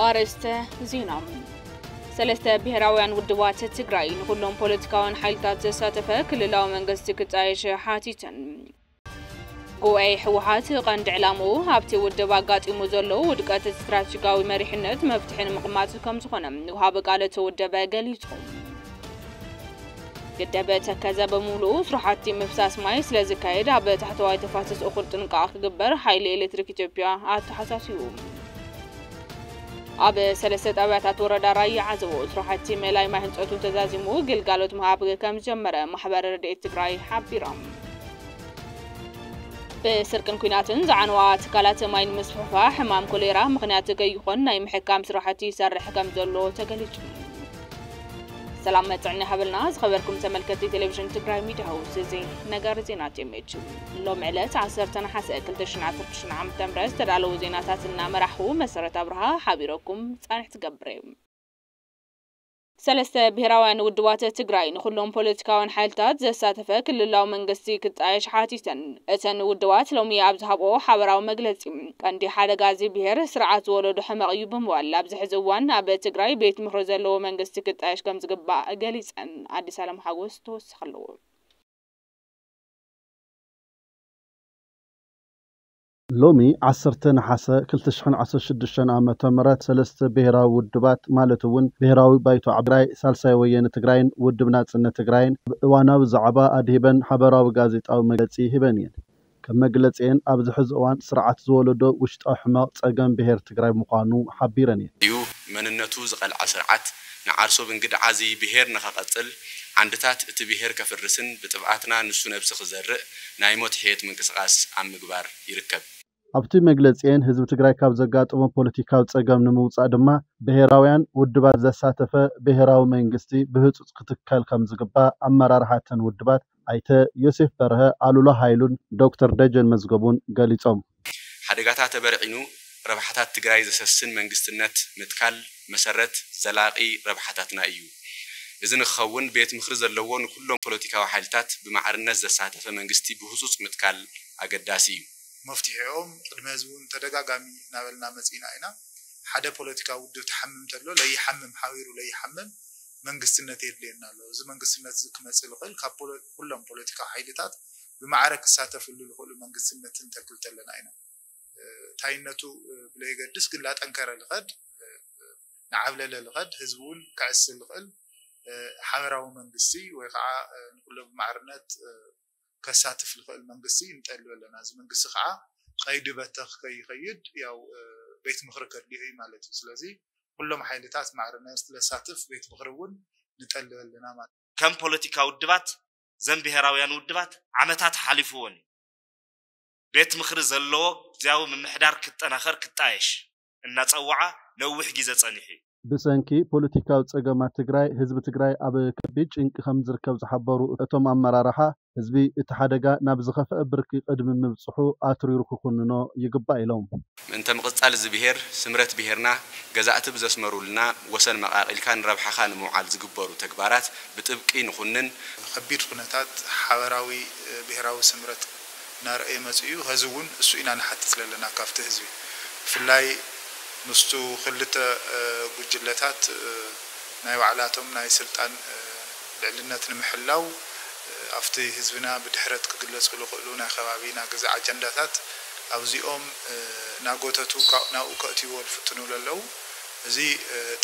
ኣርእስተ ዜና። ሰለስተ ብሔራውያን ውድባት ትግራይ ንኹሎም ፖለቲካውያን ሓይልታት ዘሳተፈ ክልላዊ መንግስቲ ክጣየሽ ሓቲተን። ጉባኤ ህወሓት ቀንዲ ዕላምኡ ኣብቲ ውድብ ኣጋጢሙ ዘሎ ውድቀት ስትራቴጂካዊ መሪሕነት መፍትሒ ንምቕማጥ ከም ዝኾነ ወሃቢ ቃል እቲ ውድብ ገሊጹ። ግድብ ተከዘ ብምሉኡ ስራሕቲ ምፍሳስ ማይ ስለ ዝካየድ ኣብ ታሕተዋይ ተፋሰስ እኹል ጥንቃቐ ክግበር ሓይሊ ኤሌክትሪክ ኢትዮጵያ ኣተሓሳሲቡ። ኣብ ሰለስተ ጣብያታት ወረዳ ራያ ዓዘቦ ስራሕቲ መላይ ማይ ህንፀቱ ተዛዚሙ ግልጋሎት ምሃብ ከም ዝጀመረ ማሕበር ረድኤት ትግራይ ሓቢሮም። ብስርቅን ኲናትን ዝዓነዋ ትካላት ማይን ምስፍሕፋሕ ሕማም ኮሌራ ምኽንያት ከይኾን ናይ ምሕካም ስራሕቲ ይሰርሕ ከም ዘሎ ተገሊጹ። ሰላም መጽዕኒ ሃበልና ዝኸበርኩም ተመልከቲ ቴሌቪዥን ትግራይ ሚድያ ሃውስ፣ እዚ ነገር ዜና ቴሜች ሎም ዕለት ዓሰርተ ነሓሰ ክልተ ሽሕን ዓሰርተ ሽዱሽተን ዓመተ ምህረት ዝተዳለዉ ዜናታት እናመራሕኹ መሰረት ኣብርሃ ሓቢረኩም ጻንሕ ትገብር እየ። ሰለስተ ብሔራውያን ውድባት ትግራይ ንኹሎም ፖለቲካውያን ሓይልታት ዘሳተፈ ክልላዊ መንግስቲ ክጣየሽ ሓቲተን። እተን ውድባት ሎሚ ኣብ ዝሃብኦ ሓበራዊ መግለጺ፣ ቀንዲ ሓደጋ እዚ ብሔር ስርዓት ዝወለዶ ሕመቕ እዩ ብምባል፣ ኣብዚ ሕዚ እዋን ኣብ ትግራይ ቤት ምኽሪ ዘለዎ መንግስቲ ክጣየሽ ከም ዝግባእ ገሊጸን። ኣዲስ ኣለም ሓጎስ ተወሳኺ ኣለዎ። ሎሚ ዓሰርተ ነሓሰ ክልተ ሽሕን ዓሰርተ ሽዱሽተን ዓመተ ምህረት ሰለስተ ብሄራዊ ውድባት ማለት እውን ብሄራዊ ባይቶ ትግራይ፣ ሳልሳይ ወየነ ትግራይን ውድብ ናጽነት ትግራይን ኣብ እዋናዊ ዛዕባ ኣድሂበን ሓበራዊ ጋዜጣዊ መግለጺ ሂበን እየን። ከም መግለጺኤን ኣብዚ ሕዚ እዋን ስርዓት ዝወለዶ ውሽጣዊ ሕመቕ ጸገም ብሄር ትግራይ ምዃኑ ሓቢረን እየን። እዩ። መንነቱ ዝቐልዐ ስርዓት ንዓርሱ ብእንግድዓ እዚ ብሄር ንኸቐጽል ዓንድታት እቲ ብሄር ከፍርስን ብጥፍኣትና ንሱ ነብሲ ክዘርእ ናይ ሞት ሕየት ምንቅስቓስ ኣብ ምግባር ይርከብ። ኣብቲ መግለጺኤን ህዝቢ ትግራይ ካብ ዘጋጠሞ ፖለቲካዊ ጸገም ንምውጻእ ድማ ብሄራውያን ውድባት ዘሳተፈ ብሄራዊ መንግስቲ ብህጹጽ ክትከል ከም ዝግባእ ኣመራርሓ እተን ውድባት ኣይተ ዮሴፍ በርሀ፣ ኣሉላ ሃይሉን ዶክተር ደጀን መዝገቡን ገሊጾም። ሓደጋታት ተበርዒኑ ረብሓታት ትግራይ ዘሰስን መንግስትነት ምትካል መሰረት ዘላቒ ረብሓታትና እዩ። እዚ ንክኸውን ቤት ምኽሪ ዘለዎ ንኩሎም ፖለቲካዊ ሓይልታት ብማዕርነት ዘሳተፈ መንግስቲ ብህፁፅ ምትካል ኣገዳሲ እዩ። መፍትሒኦም ቅድሚ ሕዚ እውን ተደጋጋሚ እናበልና መፂእና ኢና። ሓደ ፖለቲካዊ ውድብ ትሓምም ተሎ ለይሓምም ሓቢሩ ለይሓምም መንግስትነት የድልየና ኣሎ። እዚ መንግስትነት እዚ ክመፅእ ዝኽእል ካብ ኩሎም ፖለቲካዊ ሓይልታት ብማዕረ ክሳተፍሉ ዝኽእሉ መንግስትነት ክንተክል ተለና ኢና። ታይነቱ ብለይገድስ ግን ላጠንከረ ልኸድ ንዓብለለ ልኸድ ህዝቢ እውን ክዕስል ልኽእል ሓበራዊ መንግስቲ ወይ ከዓ ንኩሎ ብማዕርነት ከሳትፍ ልኽእል መንግስቲ ንጠልብ ኣለና። እዚ መንግስቲ ከዓ ቀይዲ በተኽ ከይኸይድ ያው ቤት ምኽሪ ከድልዮ እዩ ማለት እዩ። ስለዚ ኩሎም ሓይልታት ማዕርነት ለሳትፍ ቤት ምኽሪ እውን ንጠልብ ኣለና ማለት እዩ። ከም ፖለቲካ ውድባት ዘን ብሄራውያን ውድባት ዓመታት ሓሊፍዎን እዩ። ቤት ምኽሪ ዘለዎ ግዝያዊ ምምሕዳር ክጠናኸር ክጣየሽ እናፀወዓ ነዊሕ ግዜ ፀኒሑ እዩ። ብሰንኪ ፖለቲካዊ ፀገማት ትግራይ ህዝቢ ትግራይ ኣብ ከቢድ ጭንቂ ከም ዝርከብ ዝሓበሩ እቶም ኣመራርሓ፣ ህዝቢ እቲ ሓደጋ ናብ ዝኸፍአ ብርኪ ቅድሚ ምብፅሑ ኣትሪሩ ክኹንኖ ይግባእ ኢሎም። ምእንተ ምቕፃል እዚ ብሄር ስምረት ብሄርና ገዛእቲ ብዘስመሩልና ወሰን መቓቒልካ ንረብሓኻ ንምውዓል ዝግበሩ ተግባራት ብጥብቂ ንኹንን። ከቢድ ኩነታት ሓበራዊ ብሄራዊ ስምረት እናረኣየ መፂኡ። ኸዚ እውን እሱ ኢና ንሓትት ዘለና ካብቲ ህዝቢ ብፍላይ ምስቱ ክልተ ጉጅለታት ናይ ባዕላቶም ናይ ስልጣን ልዕልነት ንምሕላው ኣብቲ ህዝብና ብድሕረት ክግለፁ ዝኽእሉ ናይ ከባቢ ናይ ገዛ ኣጀንዳታት ኣብዚኦም ናጎተቱ ናብኡ ከእትይዎ ዝፍትኑ ዘለዉ እዚ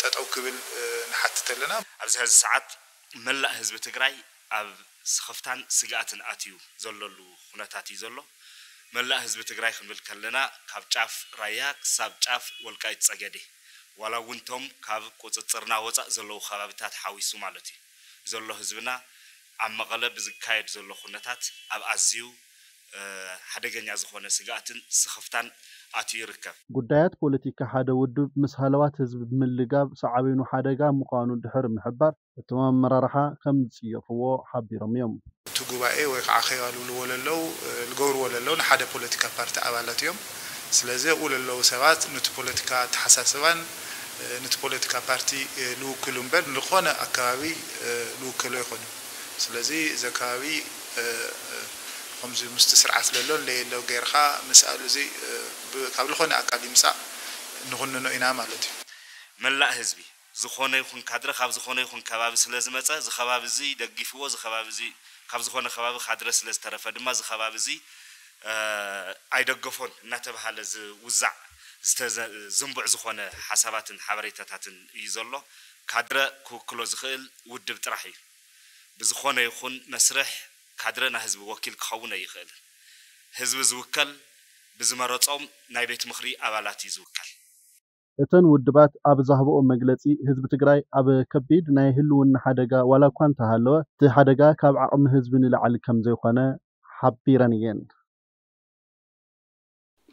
ጠጠው ክብል ንሓትት ኣለና። ኣብዚ ሕዚ ሰዓት መላእ ህዝቢ ትግራይ ኣብ ስኽፍታን ስግኣትን ኣትዩ ዘለሉ ኩነታት እዩ ዘሎ። መላእ ህዝቢ ትግራይ ክንብል ከለና ካብ ጫፍ ራያ ክሳብ ጫፍ ወልቃይት ጸገዴ ዋላ እውን ቶም ካብ ቁፅፅርና ወፃእ ዘለዉ ከባብታት ሓዊሱ ማለት እዩ ዘሎ ህዝብና ኣብ መቐለ ብዝካየድ ዘሎ ኩነታት ኣብ ኣዝዩ ሓደገኛ ዝኾነ ስግኣትን ስኽፍታን ኣትዩ ይርከብ። ጉዳያት ፖለቲካ ሓደ ውድብ ምስ ሃለዋት ህዝቢ ብምልጋብ ሳዕቤኑ ሓደጋ ምዃኑ ድሕሪ ምሕባር፣ እቶም ኣመራርሓ ከም ዝፅየፍዎ ሓቢሮም እዮም። እቲ ጉባኤ ወይ ከዓ ኸይባ ልብልዎ ለለው ልገብርዎ ለለው ንሓደ ፖለቲካ ፓርቲ ኣባላት እዮም። ስለዚ ኣብኡ ለለው ሰባት ንቲ ፖለቲካ ኣተሓሳስባን ንቲ ፖለቲካ ፓርቲ ልውክሉ እምበር ንልኾነ ኣከባቢ ልውከሉ ኣይኮኑን። ስለዚ እዚ ኣከባቢ ከምዚ ምስቲ ስርዓት ለሎ ለየሎ ገይርካ ምስኣል እዚ ካብ ልኾነ ኣካል ይምፃእ ንኹንኖ ኢና ማለት እዩ። መላእ ህዝቢ፣ ዝኾነ ይኹን ካድረ ካብ ዝኾነ ይኹን ከባቢ ስለ ዝመጸ፣ እዚ ከባቢ እዚ ደጊፍዎ፣ እዚ ከባቢ እዚ ካብ ዝኾነ ከባቢ ካድረ ስለ ዝተረፈ ድማ፣ እዚ ከባቢ እዚ፣ እ፣ ኣይደገፎን እናተባሃለ ዝውዛዕ፣ ዝተዘ-፣ ዝንቡዕ ዝኾነ ሓሳባትን ሓበሬታታትን እዩ ዘሎ። ካድረ ክውክሎ ዝኽእል ውድብ ጥራሕ እዩ። ብዝኾነ ይኹን መስርሕ ካድረ ናይ ህዝቢ ወኪል ክኸውን ኣይኽእልን። ህዝቢ ዝውከል ብዝመረጾም ናይ ቤት ምኽሪ ኣባላት እዩ ዝውከል። እተን ውድባት ኣብ ዝሃብኦ መግለጺ፣ ህዝቢ ትግራይ ኣብ ከቢድ ናይ ህልውና ሓደጋ ዋላ እኳ እንተሃለወ፣ እቲ ሓደጋ ካብ ዓቕሚ ህዝቢ ንላዕሊ ከም ዘይኾነ ሓቢረን እየን።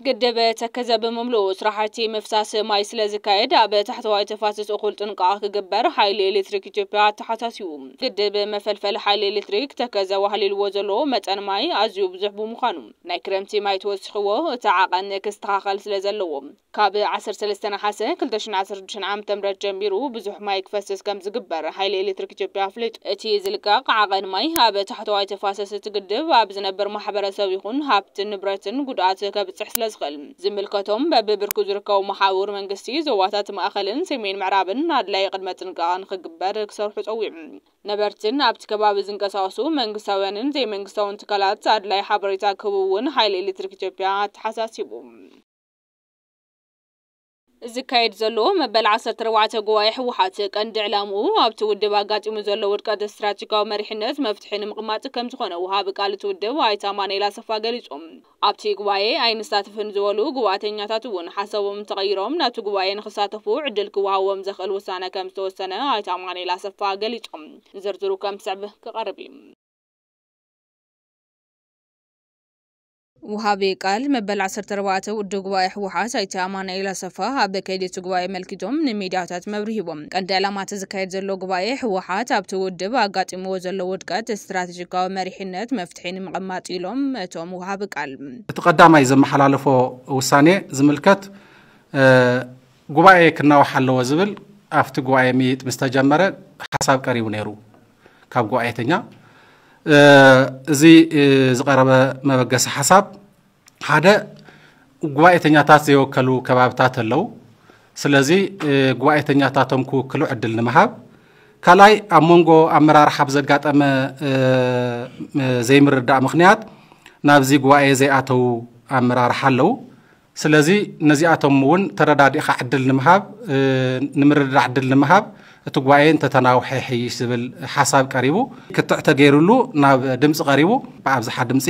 ግድብ ተከዘ ብምምልኡ ስራሕቲ ምፍሳስ ማይ ስለ ዝካየድ ኣብ ታሕተዋይ ተፋሰስ እኹል ጥንቃቐ ክግበር ሓይሊ ኤሌክትሪክ ኢትዮጵያ ኣተሓሳሲቡ። ግድብ መፈልፈሊ ሓይሊ ኤሌክትሪክ ተከዘ ዋህሊልዎ ዘሎ መጠን ማይ ኣዝዩ ብዙሕ ብምዃኑ ናይ ክረምቲ ማይ ተወሲኽዎ እቲ ዓቐን ክስተኻኸል ስለ ዘለዎ ካብ ዓሰርተ ሰለስተ ነሓሰ ክልተ ሽሕን ዓሰርተ ሽዱሽተን ዓመተ ምህረት ጀሚሩ ብዙሕ ማይ ክፈስስ ከም ዝግበር ሓይሊ ኤሌክትሪክ ኢትዮጵያ ኣፍሊጡ። እቲ ዝልቀቕ ዓቐን ማይ ኣብ ታሕተዋይ ተፋሰስ እቲ ግድብ ኣብ ዝነብር ማሕበረሰብ ይኹን ሃብትን ንብረትን ጉድኣት ከብፅሕ ስለ ዝኽእል ዝምልከቶም በብብርኩ ዝርከቡ መሓውር መንግስቲ ዞባታት ማእኸልን ሰሜን ምዕራብን ኣድላዪ ቅድመ ጥንቃቐ ንኽግበር ክሰርሑ ፀዊዑ። ነበርትን ኣብቲ ከባቢ ዝንቀሳቐሱ መንግስታውያንን ዘይመንግስታውን ትካላት ኣድላዪ ሓበሬታ ክህቡ እውን ሓይሊ ኤሌክትሪክ ኢትዮጵያ ኣተሓሳሲቡ። ዝካየድ ዘሎ መበል ዓሰርተ ኣርባዕተ ጉባኤ ህወሓት ቀንዲ ዕላምኡ ኣብቲ ውድብ ኣጋጢሙ ዘሎ ውድቀት ስትራቴጂካዊ መሪሕነት መፍትሒ ንምቕማጥ ከም ዝኾነ ወሃቢ ቃል እቲ ውድብ ኣይተ ኣማኑኤል ኣሰፋ ገሊጾም። ኣብቲ ጉባኤ ኣይንሳተፍን ዝበሉ ጉባኤተኛታት እውን ሓሳቦም ተቐይሮም ናብቲ ጉባኤ ንኽሳተፉ ዕድል ክወሃቦም ዘኽእል ውሳነ ከም ዝተወሰነ ኣይተ ኣማኑኤል ኣሰፋ ገሊጾም። ዝርዝሩ ከም ዝስዕብ ክቐርብ እዩ። ወሃቢ ቃል መበል ዓሰርተ ኣርባዕተ ውድብ ጉባኤ ህወሓት ኣይተ ኣማኑኤል ኣሰፋ ኣብ ከይዲ እቲ ጉባኤ ኣመልኪቶም ንሚድያታት መብርሂ ሂቦም። ቀንዲ ዕላማ እቲ ዝካየድ ዘሎ ጉባኤ ህወሓት ኣብቲ ውድብ ኣጋጢምዎ ዘሎ ውድቀት ስትራቴጂካዊ መሪሕነት መፍትሒ ንምቕማጥ ኢሎም እቶም ወሃቢ ቃል። እቲ ቀዳማይ ዘመሓላለፎ ውሳኔ ዝምልከት ጉባኤ ክናዋሕ ኣለዎ ዝብል ኣብቲ ጉባኤ ምይይጥ ምስ ተጀመረ ሓሳብ ቀሪቡ ነይሩ ካብ ጉባኤተኛ። እዚ ዝቐረበ መበገሲ ሓሳብ ሓደ ጉባኤተኛታት ዘይወከሉ ከባብታት ኣለዉ። ስለዚ ጉባኤተኛታቶም ክውክሉ ዕድል ንምሃብ፣ ካልኣይ ኣብ መንጎ ኣመራርሓ ብዘጋጠመ ዘይምርዳእ ምኽንያት ናብዚ ጉባኤ ዘይኣተዉ ኣመራርሓ ኣለዉ። ስለዚ ነዚኣቶም እውን ተረዳዲእኻ ዕድል ንምሃብ ንምርዳእ ዕድል ንምሃብ እቲ ጉባኤ እንተተናውሐ ይሕይሽ ዝብል ሓሳብ ቀሪቡ። ክትዕ ተገይሩሉ ናብ ድምፂ ቀሪቡ ብኣብዝሓ ድምፂ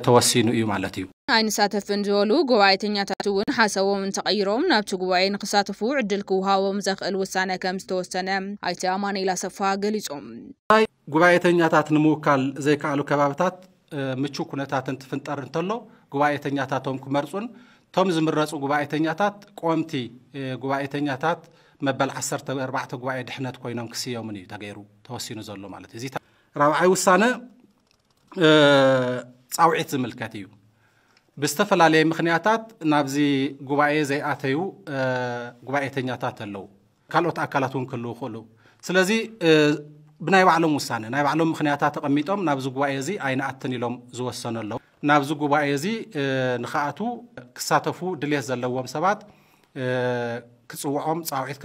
ተወሲኑ እዩ ማለት እዩ። ኣይንሳተፍን ዝበሉ ጉባኤተኛታት እውን ሓሳቦም እንተቐይሮም ናብቲ ጉባኤ ንክሳተፉ ዕድል ክወሃቦም ዘኽእል ውሳነ ከም ዝተወሰነ ኣይተ ኣማኑኤል ኣሰፋ ገሊጾም። ጉባኤተኛታት ንምውካል ዘይከኣሉ ከባብታት ምቹው ኩነታት እንትፍንጠር እንተሎ ጉባኤተኛታቶም ክመርፁን እቶም ዝምረፁ ጉባኤተኛታት ቆምቲ ጉባኤተኛታት መበል ዓሰርተ ኣርባዕተ ጉባኤ ድሕነት ኮይኖም ክስየሙን እዩ ተገይሩ ተወሲኑ ዘሎ ማለት እዩ። ራብዓይ ውሳነ ፃውዒት ዝምልከት እዩ። ብዝተፈላለየ ምኽንያታት ናብዚ ጉባኤ ዘይኣተዩ ጉባኤተኛታት ኣለዉ። ካልኦት ኣካላት እውን ክህልዉ ይኽእሉ። ስለዚ ብናይ ባዕሎም ውሳነ ናይ ባዕሎም ምኽንያታት ተቐሚጦም ናብዚ ጉባኤ እዚ ኣይንኣትን ኢሎም ዝወሰኑ ኣለዉ። ናብዚ ጉባኤ እዚ ንኽኣትዉ ክሳተፉ ድልየት ዘለዎም ሰባት ክፅውዖም ፃውዒት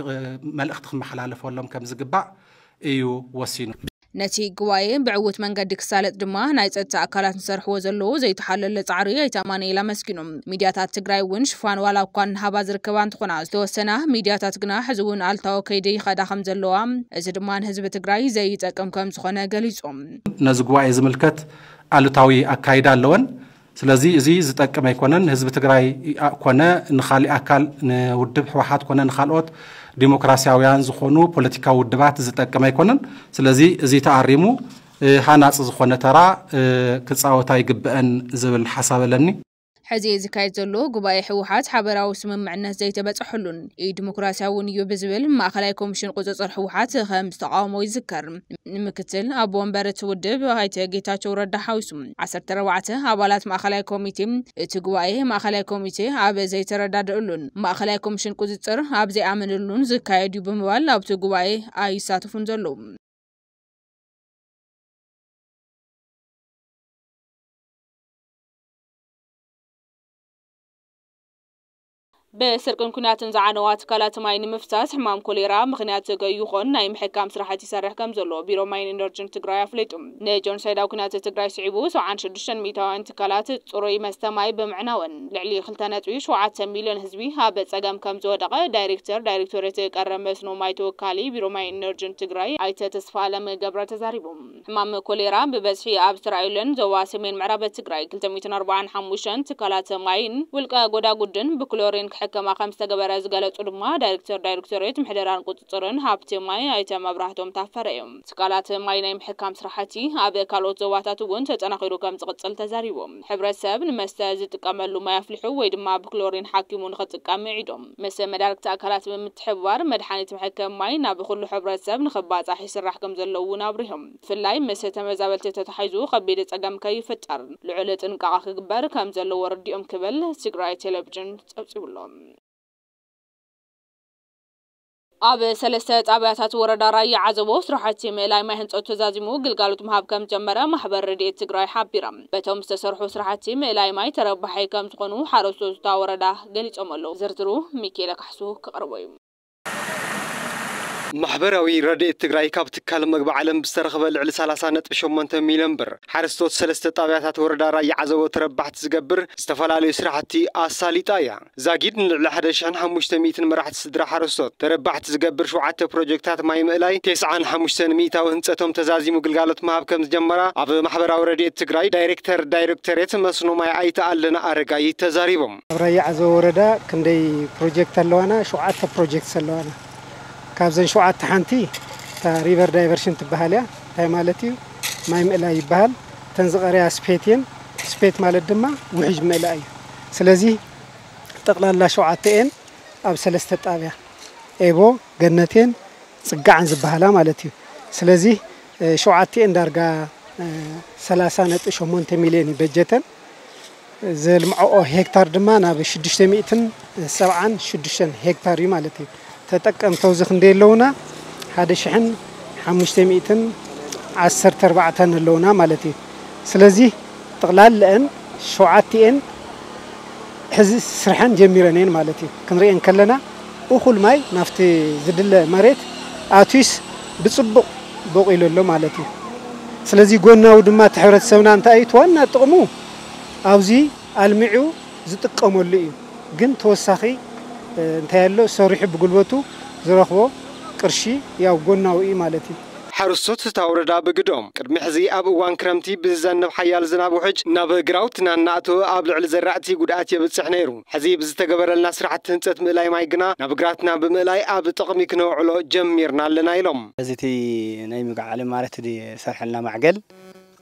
መልእኽቲ ክመሓላለፈሎም ከም ዝግባእ እዩ ወሲኑ። ነቲ ጉባኤ ብዕዉት መንገዲ ክሳለጥ ድማ ናይ ጸጥታ ኣካላት ዝሰርሕዎ ዘለዉ ዘይተሓለለ ጻዕሪ ኣይተ ኣማኑኤል ኣመስጊኖም። ሚድያታት ትግራይ እውን ሽፋን ዋላ እኳ እናሃባ ዝርከባ እንትኾና ዝተወሰና ሚድያታት ግና ሕዚ እውን ኣሉታዊ ከይዲ ይኸዳ ከም ዘለዋ እዚ ድማ ንህዝቢ ትግራይ ዘይጠቅም ከም ዝኾነ ገሊጾም። ነዚ ጉባኤ ዝምልከት ኣሉታዊ ኣካይዳ ኣለወን። ስለዚ እዚ ዝጠቅም ኣይኮነን። ንህዝቢ ትግራይ ኮነ ንኻሊእ ኣካል ንውድብ ህወሓት ኮነ ንኻልኦት ዲሞክራሲያውያን ዝኾኑ ፖለቲካዊ ውድባት ዝጠቅም ኣይኮነን። ስለዚ እዚ ተኣሪሙ ሃናፂ ዝኾነ ተራ ክፃወት ኣይግበአን ዝብል ሓሳብ ኣለኒ። ሕዚ ዝካየድ ዘሎ ጉባኤ ህወሓት ሓበራዊ ስምምዕነት ዘይተበፀሐሉን ኢዲሞክራሲያውን እዩ ብዝብል ማእኸላይ ኮሚሽን ቁፅፅር ህወሓት ከም ዝተቓወሞ ይዝከር። ንምክትል ኣቦ ወንበር እቲ ውድብ ኣይተ ጌታቸው ረዳ ሓዊሱ ዓሰርተ ኣርባዕተ ኣባላት ማእኸላይ ኮሚቴ እቲ ጉባኤ ማእኸላይ ኮሚቴ ኣብ ዘይተረዳድእሉን ማእኸላይ ኮሚሽን ቁፅፅር ኣብ ዘይኣመነሉን ዝካየድ እዩ ብምባል ኣብቲ ጉባኤ ኣይሳተፉን ዘለዉ። ብስርቅን ኩናትን ዝዓነዋ ትካላት ማይ ንምፍሳስ ሕማም ኮሌራ ምኽንያት ከይኾን ናይ ምሕካም ስራሕቲ ይሰርሕ ከም ዘሎ ቢሮ ማይን ኢነርጂን ትግራይ ኣፍሊጡ። ንጀኖሳይዳዊ ኩናት ትግራይ ስዒቡ ሰብዓን ሽዱሽተን ሚእታውያን ትካላት ጽሩይ መስተ ማይ ብምዕናወን ልዕሊ ክልተ ነጥቢ ሸውዓተ ሚልዮን ህዝቢ ኣብ ጸገም ከም ዝወደቐ ዳይሬክተር ዳይሬክቶሬት ቀረብ መስኖ ማይ ተወካሊ ቢሮ ማይን ኢነርጂን ትግራይ ኣይተ ተስፋ ኣለም ገብረ ተዛሪቦም። ሕማም ኮሌራ ብበዝሒ ኣብ ዝተራእየለን ዞባ ሰሜን ምዕራብ ትግራይ ክልተ ሚእትን ኣርባዓን ሓሙሽተን ትካላት ማይን ውልቀ ጎዳጉድን ብክሎሪን ክሕከማ ከም ዝተገበረ ዝገለጹ ድማ ዳይሬክተር ዳይሬክቶሬት ምሕደራን ቁጽጽርን ሃብቲ ማይ ኣይተ መብራህቶም ታፈረ እዮም። ትካላት ማይ ናይ ምሕካም ስራሕቲ ኣብ ካልኦት ዞባታት እውን ተጠናኺሩ ከም ዝቕጽል ተዛሪቦም። ሕብረተሰብ ንመስተ ዝጥቀመሉ ማይ ኣፍሊሑ ወይ ድማ ብክሎሪን ሓኪሙ ንኽጥቀም ምዒዶም። ምስ መዳርግቲ ኣካላት ብምትሕብባር መድሓኒት መሕከሚ ማይ ናብ ኩሉ ሕብረተሰብ ንኽባጻሕ ይስራሕ ከም ዘሎ እውን ኣብሪሆም። ብፍላይ ምስ ተመዛበልቲ ተታሒዙ ከቢድ ጸገም ከይፍጠር ልዑል ጥንቃቐ ክግበር ከም ዘለዎ ኣረዲኦም ክብል ትግራይ ቴሌቪዥን ጸብጺቡ ኣሎ። ኣብ ሰለስተ ጣብያታት ወረዳ ራያ ዓዘቦ ስራሕቲ ምእላይ ማይ ህንፀት ተዛዚሙ ግልጋሎት ምሃብ ከም ጀመረ ማሕበር ረድኤት ትግራይ ሓቢራ። በቶም ዝተሰርሑ ስራሕቲ ምእላይ ማይ ተረባሓይ ከም ዝኾኑ ሓረስቶት እታ ወረዳ ገሊፆም ኣለዉ። ዝርዝሩ ሚካኤለ ካሕሱ ክቕርቦ እዩ። ማሕበራዊ ረድኤት ትግራይ ካብ ትካል መግቢ ዓለም ብዝተረኽበ ልዕሊ ሰላሳ ነጥቢ ሸሞንተ ሚልዮን ብር ሓረስቶት ሰለስተ ጣብያታት ወረዳ ራያ ዓዘቦ ተረባሕቲ ዝገብር ዝተፈላለዩ ስራሕቲ ኣሳሊጣ እያ። ዛጊድ ንልዕሊ ሓደ ሽሕን ሓሙሽተ ሚእትን መራሕቲ ስድራ ሓረስቶት ተረባሕቲ ዝገብር ሸውዓተ ፕሮጀክታት ማይ ምእላይ ተስዓን ሓሙሽተን ሚእታዊ ህንፀቶም ተዛዚሙ ግልጋሎት ምሃብ ከም ዝጀመራ ኣብ ማሕበራዊ ረድኤት ትግራይ ዳይሬክተር ዳይሬክቶሬት መስኖ ማይ ኣይተ ኣለና ኣረጋይ ተዛሪቦም። ኣብ ራያ ዓዘቦ ወረዳ ክንደይ ፕሮጀክት ኣለዋና? ሸውዓተ ፕሮጀክት ኣለዋና። ካብዘን ሸውዓተ ሓንቲ እታ ሪቨር ዳይቨርሽን ትበሃል እያ። እንታይ ማለት እዩ? ማይ ምእላይ ይበሃል። እተን ዝቐረያ ስፔት እየን። ስፔት ማለት ድማ ውሕጅ ምእላይ እዩ። ስለዚ ጠቕላላ ሸውዓተ እየን ኣብ ሰለስተ ጣብያ ኤቦ፣ ገነቴን ጽጋዕን ዝበሃላ ማለት እዩ። ስለዚ ሸውዓተ እየን ዳርጋ ሰላሳ ነጥቢ ሸሞንተ ሚልዮን እዩ በጀተን። ዘልምዐኦ ሄክታር ድማ ናብ ሽዱሽተ ሚእትን ሰብዓን ሽዱሽተን ሄክታር እዩ ማለት እዩ። ተጠቀምቲ ኣብዚ ክንደይ ኣለውና? ሓደ ሽሕን ሓሙሽተ ሚእትን ዓሰርተ ኣርባዕተን ኣለውና ማለት እዩ። ስለዚ ጥቕላልአን ሸውዓቲኤን ሕዚ ስርሐን ጀሚረን እየን ማለት እዩ። ክንሪኤን ከለና እኹል ማይ ናብቲ ዝድለ መሬት ኣትዩስ ብፅቡቕ ቦቂሉ ኣሎ ማለት እዩ። ስለዚ ጎናዊ ድማ እቲ ሕብረተሰብና እንታይ እዩ እቲ ዋና ጥቕሙ ኣብዚ ኣልሚዑ ዝጥቀመሉ እዩ። ግን ተወሳኺ እንታይ ኣሎ ሰሪሑ ብጉልበቱ ዝረኽቦ ቅርሺ ያው ጎናዊ እዩ ማለት እዩ። ሓረስቶት እታ ወረዳ ብግድኦም ቅድሚ ሕዚ ኣብ እዋን ክረምቲ ብዝዘንብ ሓያል ዝናብ ውሕጅ ናብ ግራውትና እናእተወ ኣብ ልዕሊ ዘራእቲ ጉድኣት የብፅሕ ነይሩ። ሕዚ ብዝተገበረልና ስራሕቲ ህንፀት ምእላይ ማይ ግና ናብ ግራትና ብምእላይ ኣብ ጥቕሚ ክነውዕሎ ጀሚርና ኣለና ኢሎም። ሕዚ እቲ ናይ ምግቢ ዓለም ማለት ዝሰርሐልና ማዕገል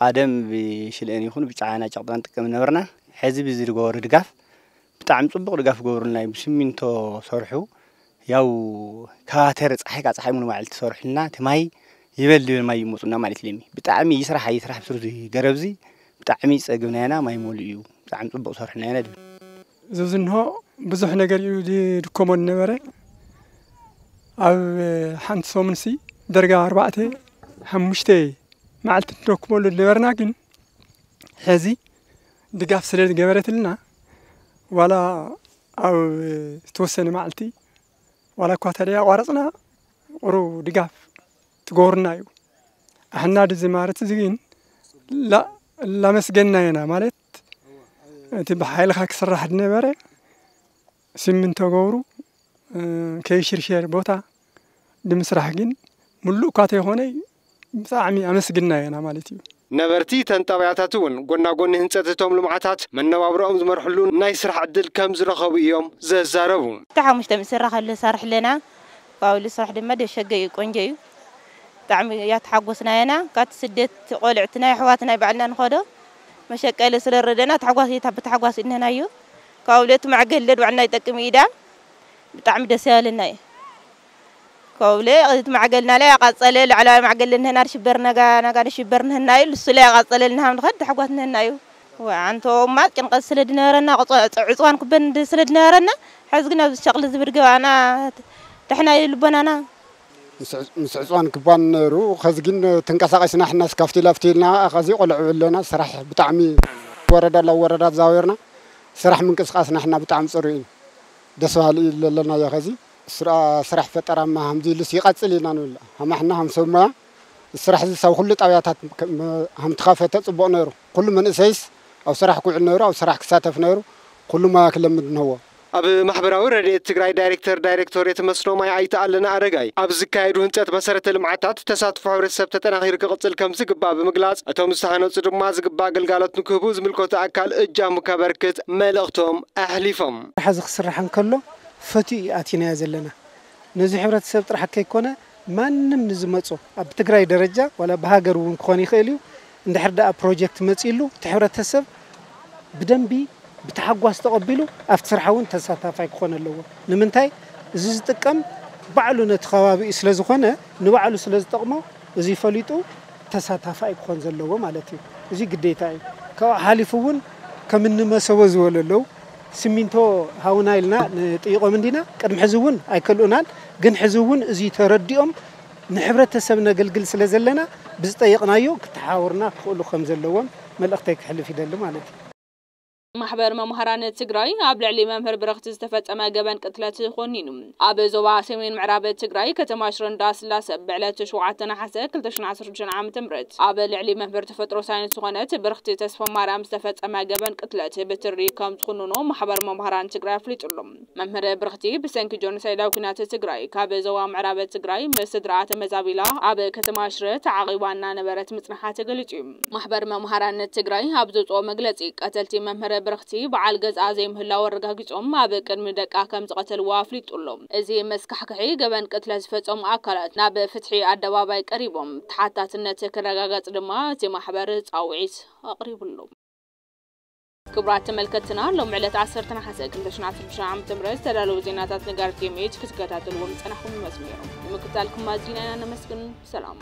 ቃደም ብሽልእን ይኹን ብጫ ኢና ጨቕጥና ንጥቀም ነበርና። ሕዚ ብዚ ዝገበሩ ድጋፍ ብጣዕሚ ፅቡቕ ድጋፍ ገብሩልና እዩ። ብስሚንቶ ሰርሑ ያው ካባተር ፀሓይ ካብ ፀሓይ ሙሉ መዓልቲ ሰርሑልና እቲ ማይ ይበል ይበል ማይ ይመፁና ማለት ለሚ ብጣዕሚ ይስራሕ ይስራሕ ምስሩ ገረብዚ ብጣዕሚ ፀግብና ኢና ማይ መሉ እዩ ብጣዕሚ ፅቡቕ ሰርሑና ኢና ድብል። ዝብዝንሆ ብዙሕ ነገር እዩ ዝድከሞ ዝነበረ ኣብ ሓንቲ ሰሙንሲ ደርጋ ኣርባዕተ ሓሙሽተ መዓልቲ ንደክመሉ ዝነበርና ግን ሕዚ ድጋፍ ስለ ዝገበረትልና ዋላ ኣብ ዝተወሰነ መዓልቲ ዋላ እኳ ተደይ ኣቋረፅና ቁሩብ ድጋፍ ትገብሩና እዩ። ኣሕና ድዚ ማለት እዚ ግን ላመስገንና ኢና ማለት እቲ ብሓይልኻ ክስራሕ ዝነበረ ሲሚንቶ ገብሩ ከይሽርሸር ቦታ ንምስራሕ ግን ምሉእ እኳ ተይኾነ ብጣዕሚ ኣመስግንና ኢና ማለት እዩ። ነበርቲ እተን ጣብያታት እውን ጎና ጎኒ ህንፀት እቶም ልምዓታት መነባብሮኦም ዝመርሕሉ ናይ ስራሕ ዕድል ከም ዝረኸቡ እዮም ዘዛረቡ። እቲ ሓሙሽተ ምስ ስራሕ ኣሎ ሰርሕ ኣለና። ካብኡ ስራሕ ድማ ደሸገ እዩ፣ ቆንጆ እዩ። ብጣዕሚ እያ ተሓጎስና ኢና። ካብቲ ስደት ቆልዕትና ኣሕዋትና ባዕልና ንኸዶ መሸቀሊ ስለ ረደና ተሓጓስ እየ ብተሓጓስ እነናዮ። ካብኡ እቲ ማዕገል ለድ ባዕልና ይጠቅም እዩ ኢዳ ብጣዕሚ ደስ ያለና እዩ። ኮብለ እቲ ማዕገልና ላይ ኣቃጸለ ላዕላዊ ማዕገል ንህና ሽበር ነጋ ነጋ ሽበር ንህና እዩ ልሱ ላይ ኣቃጸለ ንሃም ንኸድ ተሕጓት ንህና እዩ። ወ ኣንተ ማ ጭንቀት ስለ ድነበረና ዕጽዋን ክበን ስለ ድነበረና ሕዚ ግን ኣብዚ ሸቕሊ ዝብል ገባና ድሕና እዩ ልቦናና። ምስ ዕጽዋን ክባን ነይሩ። ከዚ ግን ተንቀሳቒስና ሕናስ ካፍቲ ላፍቲ ኢልና ከዚ ቆልዑ ኣለና። ስራሕ ብጣዕሚ ወረዳ ላብ ወረዳ ተዛዊርና ስራሕ ምንቅስቃስና ሕና ብጣዕሚ ጽሩይ እዩ። ደስ በሃሊ እዩ ዘለናዮ። ከዚ ስራ-፣ ስራሕ ፈጠራማ ከምዚ ኢሉስ ይቐጽል ኢና ንብል። ሃማሕና ከም ሰብ ሞያ ስራሕ እዚ ሳብ ኩሉ ጣብያታት ከም፣ ከም ተኻፈተ ጽቡቕ ነይሩ። ኩሉ መንእሰይስ ኣብ ስራሕ ክውዕል ነይሩ፣ ኣብ ስራሕ ክሳተፍ ነይሩ። ኩሉ ሞያ ክለምድ ነዎ። ኣብ ማሕበራዊ ረድኤት ትግራይ ዳይሬክተር ዳይሬክቶሬት መስኖ ማይ ኣይተ ኣለና ኣረጋይ፣ ኣብ ዝካየዱ ህንፀት መሰረተ ልምዓታት ተሳትፎ ሕብረተሰብ ተጠናኺሩ ክቕፅል ከም ዝግባእ ብምግላፅ፣ እቶም ዝተሃነፁ ድማ ዝግባእ ግልጋሎት ንክህቡ ዝምልከቱ ኣካል እጃሙ ከበርክት መልእኽቶም ኣሕሊፎም። ስራሕ እዚ ክስራሕ እንከሎ ፈትዩ እዩ ኣቲናዮ ዘለና። ነዚ ሕብረተሰብ ጥራሕ ከይኮነ ማንም ንዝመፁ ኣብ ትግራይ ደረጃ ዋላ ብሃገር እውን ክኾን ይኽእል እዩ። እንድሕር ደኣ ፕሮጀክት መፂሉ እቲ ሕብረተሰብ ብደንቢ ብተሓጓስ ተቐቢሉ ኣብቲ ስራሕ እውን ተሳታፋይ ክኾን ኣለዎ። ንምንታይ? እዚ ዝጥቀም ባዕሉ ነቲ ከባቢኡ ስለ ዝኾነ ንባዕሉ ስለ ዝጠቕሞ እዚ ፈሊጡ ተሳታፋይ ክኾን ዘለዎ ማለት እዩ። እዚ ግዴታ እዩ። ካብኡ ሓሊፉ እውን ከም እኒ መሰቦ ዝበሉ ኣለዉ። ሲሚንቶ ሃውና ኢልና ንጥይቖም እንዲና። ቅድሚ ሕዚ እውን ኣይከልኡናን። ግን ሕዚ እውን እዚ ተረዲኦም ንሕብረተሰብ ነገልግል ስለ ዘለና ብዝጠየቕናዮ ክተሓወርና ክኽእሉ ከም ዘለዎም መልእኽተይ ክሕልፍ ይደሊ ማለት እዩ። ማሕበር መምሃራን ትግራይ ኣብ ልዕሊ መምህር ብርኽቲ ዝተፈጸመ ገበን ቅትለት ኮኒኑ። ኣብ ዞባ ሰሜን ምዕራብ ትግራይ ከተማ ሽረ እንዳስላሰ ብዕለት ሸውዓተ ነሓሰ ክልተ ሽሕን ዓሰርተ ሽዱሽተን ዓመተ ምህረት ኣብ ልዕሊ መምህር ተፈጥሮ ሳይንስ ዝኾነት ብርኽቲ ተስፋ ማርያም ዝተፈጸመ ገበን ቅትለት ብትሪ ከም ዝኹንኖ ማሕበር መምሃራን ትግራይ ኣፍሊጡ ኣሎ። መምህር ብርኽቲ ብሰንኪ ጆኖሳይዳዊ ኲናት ትግራይ ካብ ዞባ ምዕራብ ትግራይ ምስ ስድራኣ ተመዛቢላ ኣብ ከተማ ሽረ ተዓቒባ እናነበረት ምጽንሓ ተገሊጹ እዩ። ማሕበር መምሃራን ትግራይ ኣብ ዘውፅኦ መግለፂ፣ ቀተልቲ መምህር ብርኽቲ በዓል ገዝኣ ዘይምህላው ኣረጋጊጾም ኣብ ቅድሚ ደቃ ከም ዝቐተልዋ ኣፍሊጡ ኣሎ። እዚ መስካሕክሒ ገበን ቅትለት ዝፈጸሙ ኣካላት ናብ ፍትሒ ኣደባባይ ቀሪቦም ተሓታትነት ክረጋገጽ ድማ እቲ ማሕበር ፃውዒት ኣቕሪቡ ኣሎ። ክቡራት ተመልከትትና፣ ሎም ዕለት ዓሰርተ ነሓሰ ክልተ ሽሕን ዓሰርተ ሽዱሽተ ዓመተ ምህረት ዝተዳለዉ ዜናታት ነጋሪት ቲኤምኤች ክትከታተልዎም ዝጸናሕኩም ይመስሉ ነይሮም። ንምክትታልኩም ኣዚና ኢና ነመስግን። ሰላም።